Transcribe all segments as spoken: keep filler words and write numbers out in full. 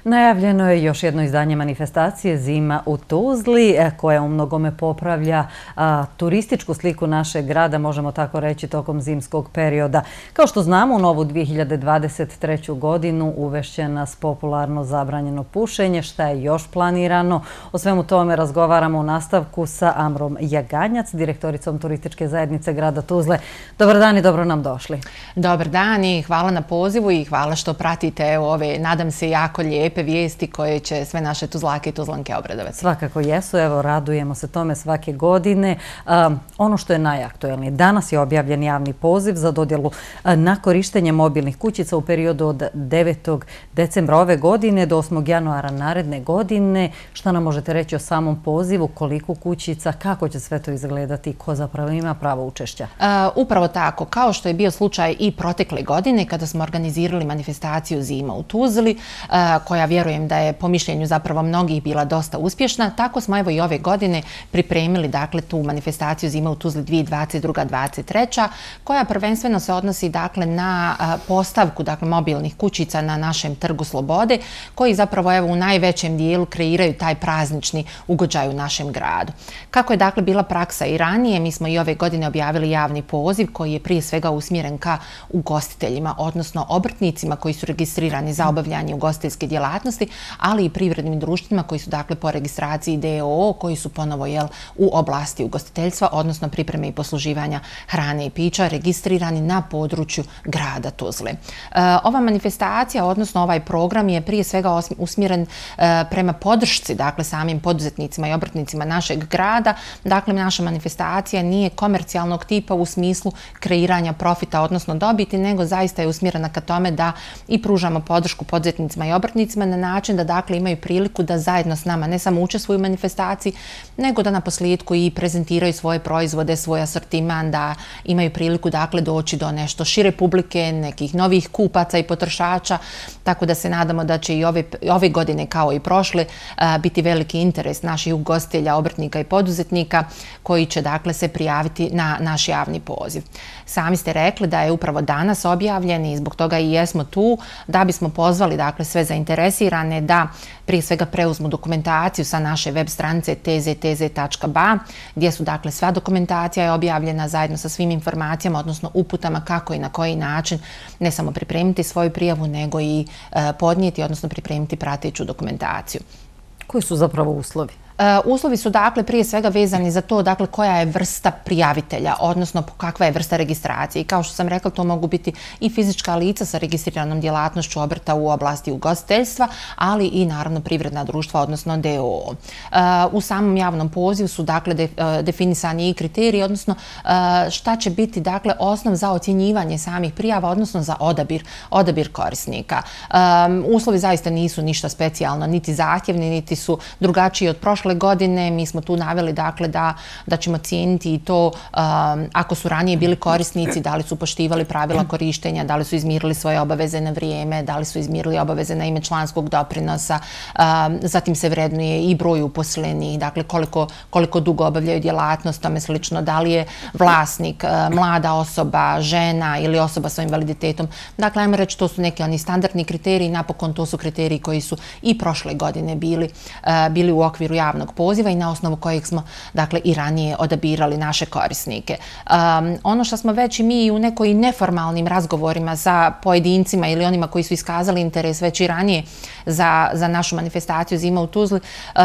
Najavljeno je još jedno izdanje manifestacije Zima u Tuzli, koja u mnogome popravlja a, turističku sliku našeg grada, možemo tako reći, tokom zimskog perioda. Kao što znamo, u novu dvije hiljade dvadeset treću godinu uvešće nas popularno zabranjeno pušenje. Šta je još planirano? O svemu tome razgovaramo u nastavku sa Amrom Jaganjac, direktoricom turističke zajednice grada Tuzle. Dobar dan i dobro nam došli. Dobar dan i hvala na pozivu i hvala što pratite ove, nadam se, jako lijepe vijesti koje će sve naše Tuzlake i Tuzlanke obradovati. Svakako jesu, evo, radujemo se tome svake godine. Um, ono što je najaktuelnije, danas je objavljen javni poziv za dodjelu na korištenje mobilnih kućica u periodu od devetog decembra ove godine do osmog januara naredne godine. Šta nam možete reći o samom pozivu, koliko kućica, kako će sve to izgledati, ko zapravo ima pravo učešća? Uh, upravo tako, kao što je bio slučaj i protekle godine kada smo organizirali manifestaciju Zima u Tuzli, uh, koja vjerujem da je po mišljenju zapravo mnogih bila dosta uspješna, tako smo evo i ove godine pripremili dakle tu manifestaciju Zima u Tuzli dvije hiljade dvadeset druga dvadeset treća koja prvenstveno se odnosi dakle na postavku dakle mobilnih kućica na našem Trgu Slobode, koji zapravo evo u najvećem dijelu kreiraju taj praznični ugođaj u našem gradu. Kako je dakle bila praksa i ranije, mi smo i ove godine objavili javni poziv koji je prije svega usmjeren ka ugostiteljima, odnosno obrtnicima koji su registrirani za obavljanje ugostiteljske djelatnosti, ali i privrednim društvima koji su dakle po registraciji D O O, koji su ponovo jel, u oblasti ugostiteljstva, odnosno pripreme i posluživanja hrane i pića, registrirani na području grada Tuzle. E, ova manifestacija, odnosno ovaj program je prije svega usmjeren e, prema podršci, dakle samim poduzetnicima i obrtnicima našeg grada. Dakle, naša manifestacija nije komercijalnog tipa u smislu kreiranja profita, odnosno dobiti, nego zaista je usmjerena ka tome da i pružamo podršku poduzetnicima i obrtnicima na način da dakle imaju priliku da zajedno s nama ne samo učestvuju u manifestaciji, nego da na posljedku i prezentiraju svoje proizvode, svoj asortiman, da imaju priliku dakle doći do nešto šire publike, nekih novih kupaca i potrošača, tako da se nadamo da će i ove, ove godine kao i prošle biti veliki interes naših ugostitelja, obrtnika i poduzetnika koji će dakle se prijaviti na naš javni poziv. Sami ste rekli da je upravo danas objavljen i zbog toga i jesmo tu da bismo pozvali dakle sve zainteresirane da prije svega preuzmu dokumentaciju sa naše web stranice t z t z tačka b a gdje su dakle sva dokumentacija je objavljena zajedno sa svim informacijama, odnosno uputama kako i na koji način ne samo pripremiti svoju prijavu, nego i e, podnijeti, odnosno pripremiti prateću dokumentaciju. Koji su zapravo uslovi? Uh, uslovi su dakle prije svega vezani za to dakle koja je vrsta prijavitelja, odnosno kakva je vrsta registracije. I kao što sam rekla, to mogu biti i fizička lica sa registriranom djelatnošću obrta u oblasti ugostiteljstva, ali i naravno privredna društva, odnosno D O O. Uh, u samom javnom pozivu su dakle de, uh, definisani i kriteriji, odnosno uh, šta će biti dakle osnov za ocjenjivanje samih prijava, odnosno za odabir, odabir korisnika. Um, uslovi zaista nisu ništa specijalno, niti zahtjevni, niti su drugačiji od prošle godine. Mi smo tu naveli dakle da, da ćemo cijeniti i to um, ako su ranije bili korisnici, da li su poštivali pravila korištenja, da li su izmirili svoje obaveze na vrijeme, da li su izmirili obaveze na ime članskog doprinosa, um, zatim se vrednuje i broj uposlenih, dakle koliko, koliko dugo obavljaju djelatnost, tome slično, da li je vlasnik uh, mlada osoba, žena ili osoba sa invaliditetom. Dakle, ajmo reći, to su neki oni standardni kriteriji, napokon to su kriteriji koji su i prošle godine bili, uh, bili u okviru javnog poziva i na osnovu kojeg smo dakle i ranije odabirali naše korisnike. Um, ono što smo već i mi u nekoj neformalnim razgovorima sa pojedincima ili onima koji su iskazali interes već i ranije za, za našu manifestaciju Zima u Tuzli, uh,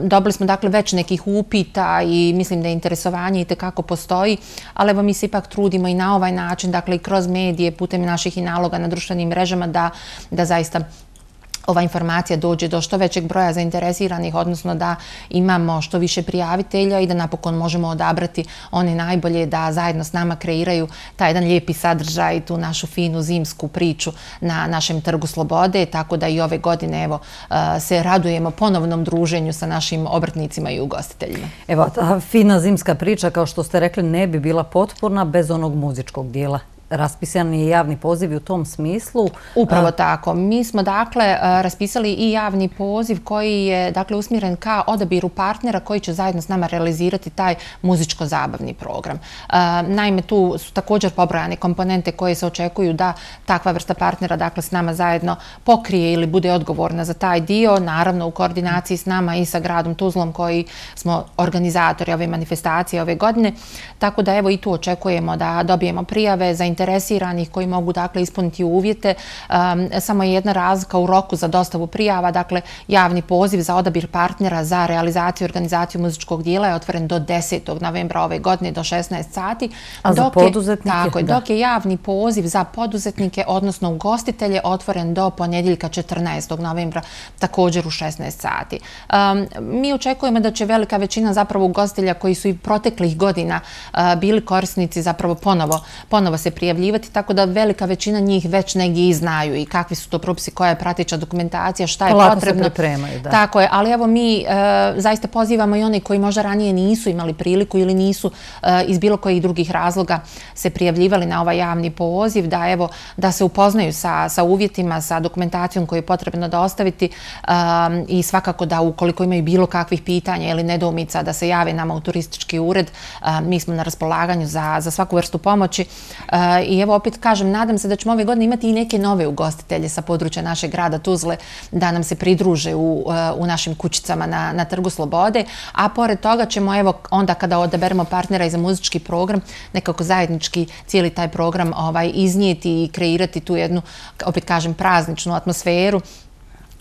dobili smo dakle već nekih upita i mislim da je interesovanje itekako postoji, ali evo mi se ipak trudimo i na ovaj način, dakle i kroz medije, putem naših i naloga na društvenim mrežama da, da zaista ova informacija dođe do što većeg broja zainteresiranih, odnosno da imamo što više prijavitelja i da napokon možemo odabrati one najbolje da zajedno s nama kreiraju taj jedan lijepi sadržaj, tu našu finu zimsku priču na našem Trgu Slobode, tako da i ove godine evo, se radujemo ponovnom druženju sa našim obrtnicima i ugostiteljima. Evo, ta fina zimska priča, kao što ste rekli, ne bi bila potporna bez onog muzičkog dijela. raspisan je javni poziv u tom smislu. Upravo tako. Mi smo dakle raspisali i javni poziv koji je dakle usmjeren ka odabiru partnera koji će zajedno s nama realizirati taj muzičko-zabavni program. Naime, tu su također pobrojane komponente koje se očekuju da takva vrsta partnera dakle s nama zajedno pokrije ili bude odgovorna za taj dio, naravno u koordinaciji s nama i sa gradom Tuzlom koji smo organizatori ove manifestacije ove godine. Tako da evo i tu očekujemo da dobijemo prijave zainteresiranih koji mogu dakle ispuniti uvjete. Um, samo je jedna razlika u roku za dostavu prijava, dakle javni poziv za odabir partnera za realizaciju i organizaciju muzičkog dijela je otvoren do desetog novembra ove godine do šesnaest sati. A za poduzetnike? Tako je, dok je javni poziv za poduzetnike, odnosno ugostitelje, otvoren do ponedjeljka četrnaestog novembra također u šesnaest sati. Um, mi očekujemo da će velika većina zapravo ugostitelja koji su i proteklih godina uh, bili korisnici zapravo ponovo, ponovo se prijavljivati, tako da velika većina njih već negdje i znaju i kakvi su to propisi, koja je prateća dokumentacija, šta je Polako potrebno. Se pripremaju, da. Tako je, ali evo mi uh, zaista pozivamo i one koji možda ranije nisu imali priliku ili nisu uh, iz bilo kojih drugih razloga se prijavljivali na ovaj javni poziv, da evo da se upoznaju sa, sa uvjetima, sa dokumentacijom koju je potrebno dostaviti um, i svakako da ukoliko imaju bilo kakvih pitanja ili nedoumica da se jave nama u turistički ured, um, mi smo na raspolaganju za, za svaku vrstu pomoći. Uh, I evo opet kažem, nadam se da ćemo ove godine imati i neke nove ugostitelje sa područja našeg grada Tuzle da nam se pridruže u, uh, u našim kućicama na, na Trgu Slobode, a pored toga ćemo evo onda kada odaberemo partnera i za muzički program nekako zajednički cijeli taj program ovaj, iznijeti i kreirati tu jednu, opet kažem, prazničnu atmosferu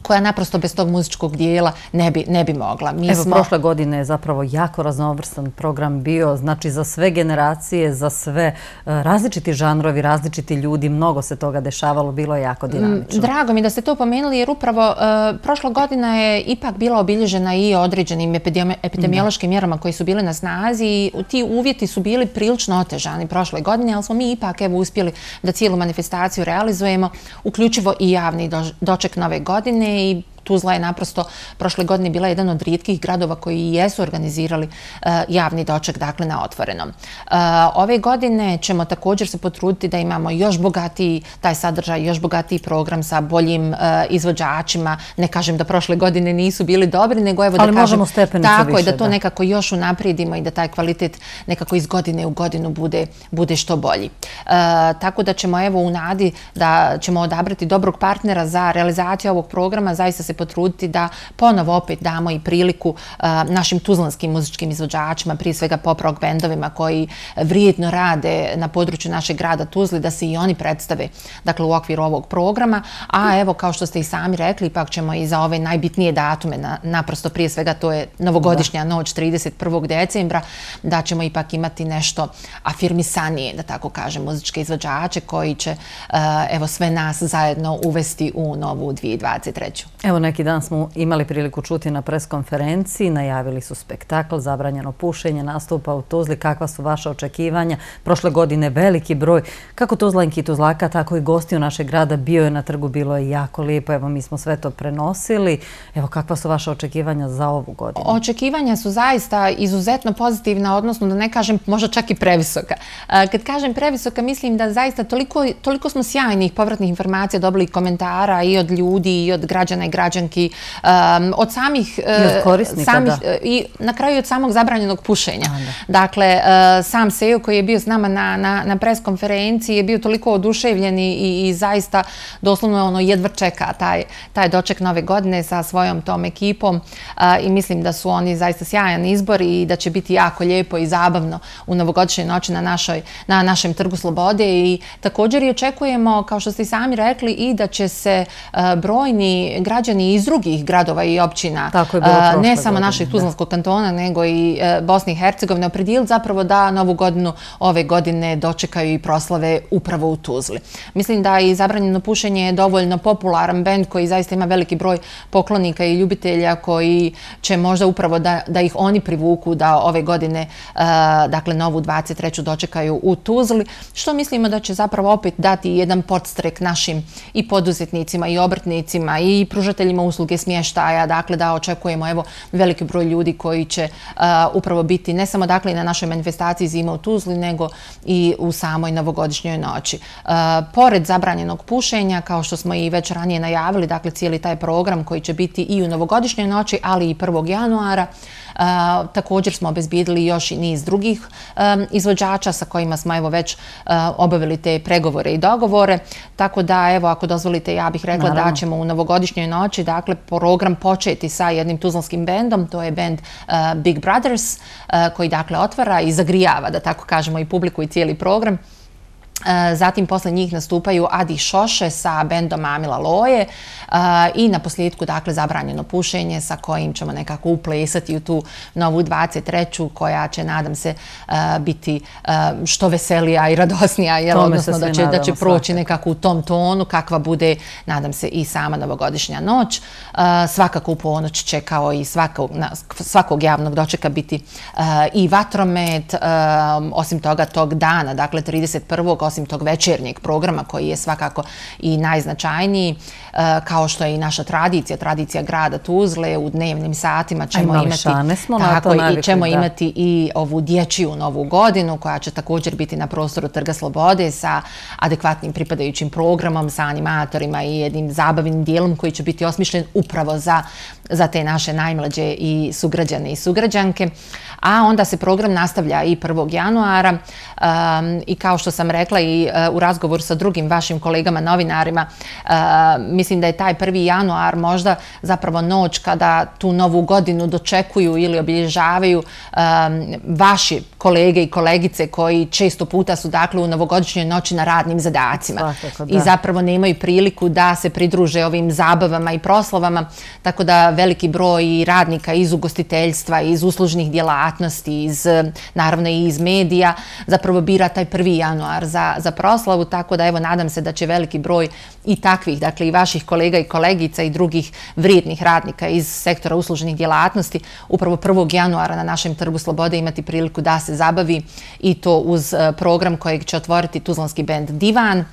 koja naprosto bez tog muzičkog dijela ne bi, ne bi mogla. Mi Evo, smo... prošle godine je zapravo jako raznovrstan program bio, znači za sve generacije, za sve različiti žanrovi, različiti ljudi, mnogo se toga dešavalo, bilo je jako dinamično. Drago mi da ste to pomenuli, jer upravo uh, prošla godina je ipak bila obilježena i određenim epidemiološkim mjerama koji su bile na snazi i ti uvjeti su bili prilično otežani prošle godine, ali smo mi ipak evo uspjeli da cijelu manifestaciju realizujemo, uključivo i javni doček nove godine. I Tuzla je naprosto prošle godine bila jedan od rijetkih gradova koji jesu organizirali uh, javni doček, dakle, na otvorenom. Uh, ove godine ćemo također se potruditi da imamo još bogatiji taj sadržaj, još bogatiji program sa boljim uh, izvođačima. Ne kažem da prošle godine nisu bili dobri, nego evo da Ali kažem tako više, je da to da. nekako još unaprijedimo i da taj kvalitet nekako iz godine u godinu bude, bude što bolji. Uh, tako da ćemo evo u nadi da ćemo odabrati dobrog partnera za realizaciju ovog programa, zaista se potruditi da ponovo opet damo i priliku uh, našim tuzlanskim muzičkim izvođačima, prije svega pop rock bendovima koji vrijedno rade na području našeg grada Tuzli, da se i oni predstave dakle, u okviru ovog programa. A evo, kao što ste i sami rekli, ipak ćemo i za ove najbitnije datume, na, naprosto prije svega to je novogodišnja da. noć trideset prvog decembra, da ćemo ipak imati nešto afirmisanije, da tako kažem, muzičke izvođače koji će uh, evo sve nas zajedno uvesti u novu dvije tisuće dvadeset treću. Evo neki dan smo imali priliku čuti na preskonferenciji, najavili su spektakl, zabranjeno pušenje, nastupa u Tuzli. Kakva su vaša očekivanja? Prošle godine veliki broj, kako Tuzlanki i Tuzlaka, tako i gostiju našeg grada bio je na trgu, bilo je jako lijepo. Evo mi smo sve to prenosili. Evo kakva su vaša očekivanja za ovu godinu? Očekivanja su zaista izuzetno pozitivna, odnosno da ne kažem možda čak i previsoka. Kad kažem previsoka, mislim da zaista toliko, toliko smo sjajnih povratnih informacija dobili komentara i od ljudi i od građana i građanki, um, od samih... I od korisnika, samih, da. I na kraju od samog zabranjenog pušenja. A, dakle, uh, sam Sejo koji je bio s nama na, na, na preskonferenciji je bio toliko oduševljen i, i, i zaista doslovno ono jedva čeka taj, taj doček nove godine sa svojom tom ekipom uh, i mislim da su oni zaista sjajan izbor i da će biti jako lijepo i zabavno u novogodišnjoj noći na, našoj, na našem Trgu Slobode i također i očekujemo, kao što ste i sami rekli, i da će se uh, brojni građani iz drugih gradova i općina, ne samo našeg Tuzlanskog kantona, nego i Bosne i Hercegovine, opredijeliti zapravo da novu godinu ove godine dočekaju i proslave upravo u Tuzli. Mislim da i zabranjeno pušenje je dovoljno popularan bend koji zaista ima veliki broj poklonika i ljubitelja koji će možda upravo da, da ih oni privuku da ove godine, dakle novu dvadeset treću dočekaju u Tuzli, što mislimo da će zapravo opet dati jedan podstrek našim i poduzetnicima i obrtnicima i pružateljima ugostiteljima usluge smještaja, dakle da očekujemo evo veliki broj ljudi koji će upravo biti ne samo dakle i na našoj manifestaciji Zima u Tuzli, nego i u samoj novogodišnjoj noći. Pored zabranjenog pušenja, kao što smo i već ranije najavili, dakle cijeli taj program koji će biti i u novogodišnjoj noći, ali i prvog januara, također smo obezbijedili još i niz drugih izvođača sa kojima smo evo već obavili te pregovore i dogovore. Tako da, evo, ako dozvolite, ja bih rekla da ćemo u novogodišnjoj noći, dakle, program početi sa jednim tuzlanskim bendom, to je bend Big Brothers, koji, dakle, otvara i zagrijava, da tako kažemo, i publiku i cijeli program. Zatim posle njih nastupaju Adi Šoše sa bendom Amila Loje i na posljedku, dakle, zabranjeno pušenje sa kojim ćemo nekako uplesati u tu novu dvadeset treću koja će, nadam se, biti što veselija i radosnija, jer odnosno da će, da će proći nekako u tom tonu kakva bude, nadam se, i sama novogodišnja noć. Svakako u ponoć će kao i svakog, svakog javnog dočeka biti i vatromet, osim toga tog dana, dakle trideset prvog osim tog večernjeg programa koji je svakako i najznačajniji, kao što je i naša tradicija, tradicija grada Tuzle, u dnevnim satima ćemo imati, tako, i ćemo imati i ovu dječju novu godinu koja će također biti na prostoru Trga Slobode sa adekvatnim pripadajućim programom, sa animatorima i jednim zabavnim dijelom koji će biti osmišljen upravo za, za te naše najmlađe i sugrađane i sugrađanke. A onda se program nastavlja i prvog januara um, i kao što sam rekla i uh, u razgovoru sa drugim vašim kolegama novinarima, uh, mislim da je taj prvi januar možda zapravo noć kada tu novu godinu dočekuju ili obilježavaju um, vaši kolege i kolegice koji često puta su dakle u novogodišnjoj noći na radnim zadacima. Svakako, i zapravo nemaju priliku da se pridruže ovim zabavama i proslavama, tako da veliki broj radnika iz ugostiteljstva, iz uslužnih djelatnosti, iz, naravno i iz medija, zapravo bira taj prvi januar za, za proslavu, tako da evo nadam se da će veliki broj i takvih, dakle i vaših kolega i kolegica i drugih vrijednih radnika iz sektora uslužnih djelatnosti upravo prvog januara na našem Trgu Slobode imati priliku da se zabavi i to uz program kojeg će otvoriti tuzlanski bend Divan,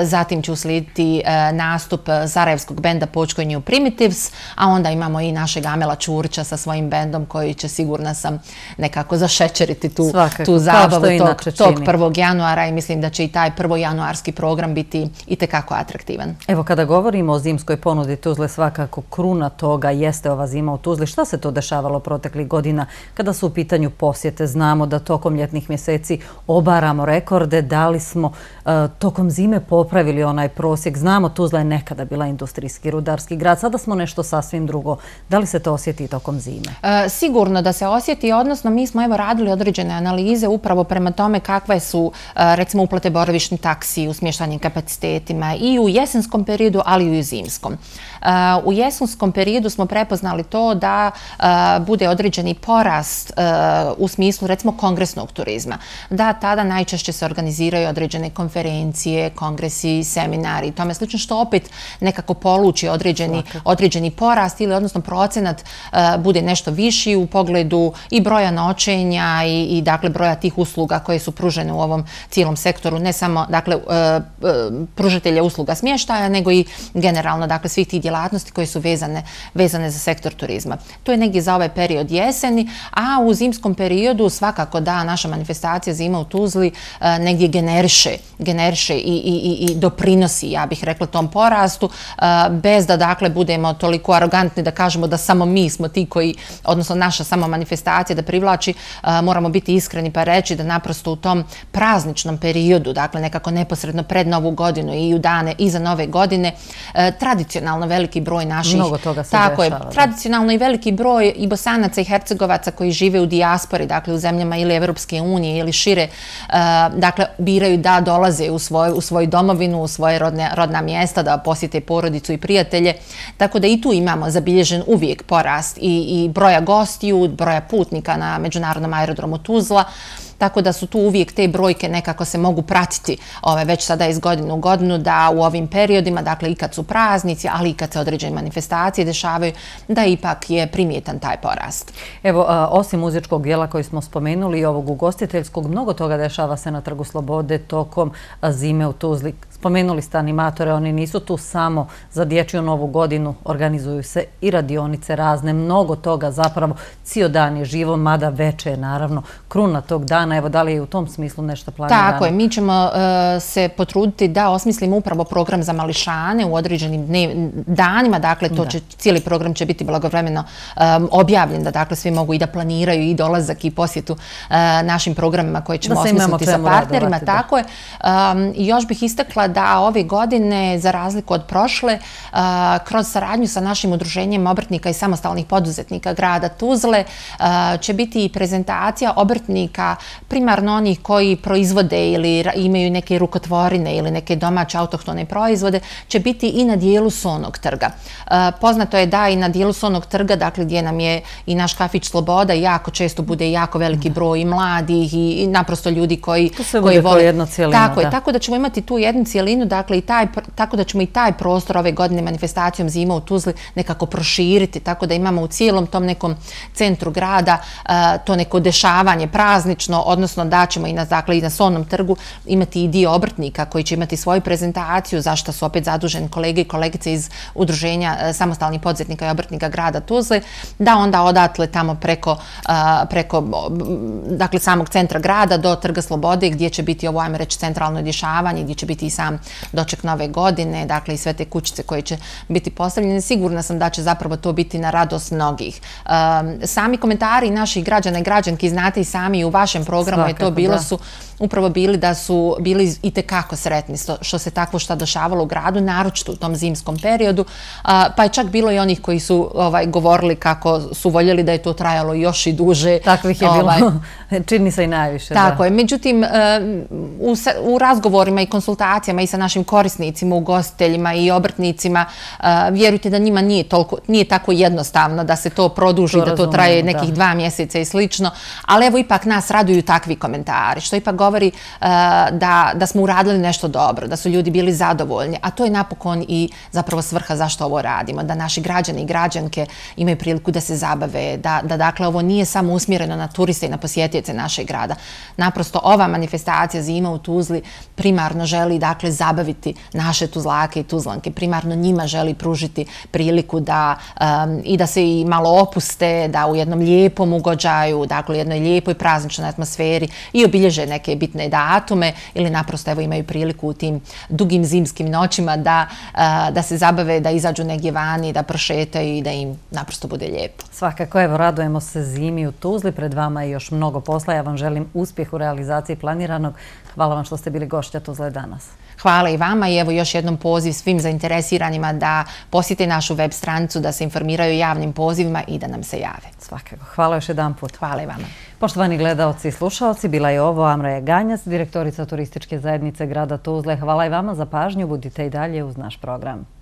zatim će uslijediti nastup sarajevskog benda Počko New Primitives, a onda imamo i našeg Amela Čurića sa svojim bendom koji će, sigurna sam, nekako zašećeriti tu, tu zabavu tog, tog prvog januara i mislim da će i taj prvojanuarski program biti itekako atraktivan. Evo, kada govorimo o zimskoj ponudi Tuzle, svakako kruna toga jeste ova zima u Tuzli. Šta se to dešavalo proteklih godina kada su u pitanju posjete? Znamo da tokom ljetnih mjeseci obaramo rekorde, da li smo uh, tokom zime popravili onaj prosjek? Znamo, Tuzla je nekada bila industrijski, rudarski grad, sada smo nešto sasvim drugo. Da li se to osjeti tokom zime? E, sigurno da se osjeti, odnosno mi smo evo radili određene analize upravo prema tome kakve su recimo uplate boravišni taksi u smještajnim kapacitetima i u jesenskom periodu, ali i u zimskom. U jesenskom periodu smo prepoznali to da bude određeni porast u smislu recimo kongresnog turizma. Da tada najčešće se organiziraju određene konferencije, kongresi, seminari i tome slično, što opet nekako poluči određeni, određeni porast ili odnosno procenat bude nešto viši u pogledu i broja noćenja i, i dakle broja tih usluga koje su pružene u ovom cijelom sektoru, ne samo dakle pružatelja usluga smještaja, nego i generalno dakle svih tih djelatnosti koje su vezane, vezane za sektor turizma. To je negdje za ovaj period jeseni, a u zimskom periodu svakako da naša manifestacija Zima u Tuzli negdje generiše, generiše i, i, i doprinosi, ja bih rekla, tom porastu, bez da dakle budemo toliko arogantni da kažemo da samo mi smo ti koji, odnosno naša samo manifestacija da privlači, moramo biti iskreni pa reći da naprosto u tom prazničnom periodu, dakle nekako neposredno pred Novu godinu i u dane iza Nove godine, tradicionalno veliki broj naših... Mnogo toga se tako dešava. Je, tradicionalno i veliki broj i Bosanaca i Hercegovaca koji žive u dijaspori, dakle u zemljama ili Evropske unije ili šire, dakle biraju da dolaze u svoju, u svoju domovinu, u svoje rodne, rodna mjesta, da posjete porodicu i prijatelje. Tako da i tu imamo zabilježen uvijek porast i, i broja gostiju, broja putnika na međunarodnom aerodromu Tuzla. Tako da su tu uvijek te brojke nekako se mogu pratiti ove, već sada iz godine u godinu, da u ovim periodima, dakle i kad su praznici, ali i kad se određene manifestacije dešavaju, da ipak je primjetan taj porast. Evo, a, osim muzičkog dijela koji smo spomenuli i ovog ugostiteljskog, mnogo toga dešava se na Trgu Slobode tokom zime u Tuzli. Spomenuli ste animatore, oni nisu tu samo za dječju novu godinu, organizuju se i radionice razne, mnogo toga zapravo, cijel dan je živo, mada veče je naravno kruna tog dana. Evo, da li je u tom smislu nešto planirano? Tako je, mi ćemo uh, se potruditi da osmislimo upravo program za mališane u određenim dnev, danima, dakle to će, cijeli program će biti blagovremeno um, objavljen, da dakle svi mogu i da planiraju i dolazak i posjetu uh, našim programima koje ćemo osmisliti sa partnerima. Tako je. Um, još bih istakla da ove godine, za razliku od prošle, uh, kroz saradnju sa našim udruženjem obrtnika i samostalnih poduzetnika grada Tuzle uh, će biti i prezentacija obrtnika, primarno onih koji proizvode ili imaju neke rukotvorine ili neke domaće autohtone proizvode, će biti i na dijelu Sonog trga. Uh, poznato je da i na dijelu Sonog trga, dakle gdje nam je i naš kafić Sloboda, jako često bude jako veliki broj i mladih i, i naprosto ljudi koji, koji vole. Jedno cijelino, tako da. je, tako da ćemo imati tu jednu cijelinu, dakle i taj, tako da ćemo i taj prostor ove godine manifestacijom Zima u Tuzli nekako proširiti, tako da imamo u cijelom tom nekom centru grada uh, to neko dešavanje praznično, odnosno da ćemo i na, dakle, i na Sonom trgu imati i dio obrtnika koji će imati svoju prezentaciju, zašto su opet zaduženi kolege i kolegice iz udruženja uh, samostalnih poduzetnika i obrtnika grada Tuzle, da onda odatle tamo preko, uh, preko dakle, samog centra grada do Trga Slobode gdje će biti ovo, ajmo reći, centralno dešavanje, gdje će biti i sam doček nove godine, dakle i sve te kućice koje će biti postavljene. Sigurna sam da će zapravo to biti na radost mnogih. Um, sami komentari naših građana i građanki, znate i sami u vašem programu je to bilo, su upravo bili da su bili i tekako sretni što se takvo šta dešavalo u gradu, naročito u tom zimskom periodu, pa je čak bilo i onih koji su ovaj, govorili kako su voljeli da je to trajalo još i duže. Takvih je ovaj, bilo, čini se i najviše. Tako da. je, međutim u, u razgovorima i konsultacijama i sa našim korisnicima, ugostiteljima i obrtnicima, vjerujte da njima nije, toliko, nije tako jednostavno da se to produži, to da to traje nekih da. dva mjeseca i slično, ali evo ipak nas raduju takvi komentari, što ipak govori uh, da, da smo uradili nešto dobro, da su ljudi bili zadovoljni, a to je napokon i zapravo svrha zašto ovo radimo, da naši građani i građanke imaju priliku da se zabave, da, da dakle ovo nije samo usmjereno na turiste i na posjetioce našeg grada. Naprosto ova manifestacija Zima u Tuzli primarno želi dakle zabaviti naše Tuzlake i Tuzlanke, primarno njima želi pružiti priliku da um, i da se i malo opuste, da u jednom lijepom ugođaju, dakle u jednoj lijepoj prazničnoj atmosferi i obilježe neke bitne datume ili naprosto evo imaju priliku u tim dugim zimskim noćima da, uh, da se zabave, da izađu negdje vani, da prošetaju i da im naprosto bude lijepo. Svakako, evo, radujemo se Zimi u Tuzli, pred vama je još mnogo posla. Ja vam želim uspjeh u realizaciji planiranog. Hvala vam što ste bili gošća Tuzle danas. Hvala i vama i evo još jednom poziv svim zainteresiranima da posjete našu web stranicu, da se informiraju javnim pozivima i da nam se jave. Svakako. Hvala još jedan put. Hvala i vama. Poštovani gledalci i slušalci, bila je ovo Amraja Ganjac, direktorica turističke zajednice grada Tuzle. Hvala i vama za pažnju, budite i dalje uz naš program.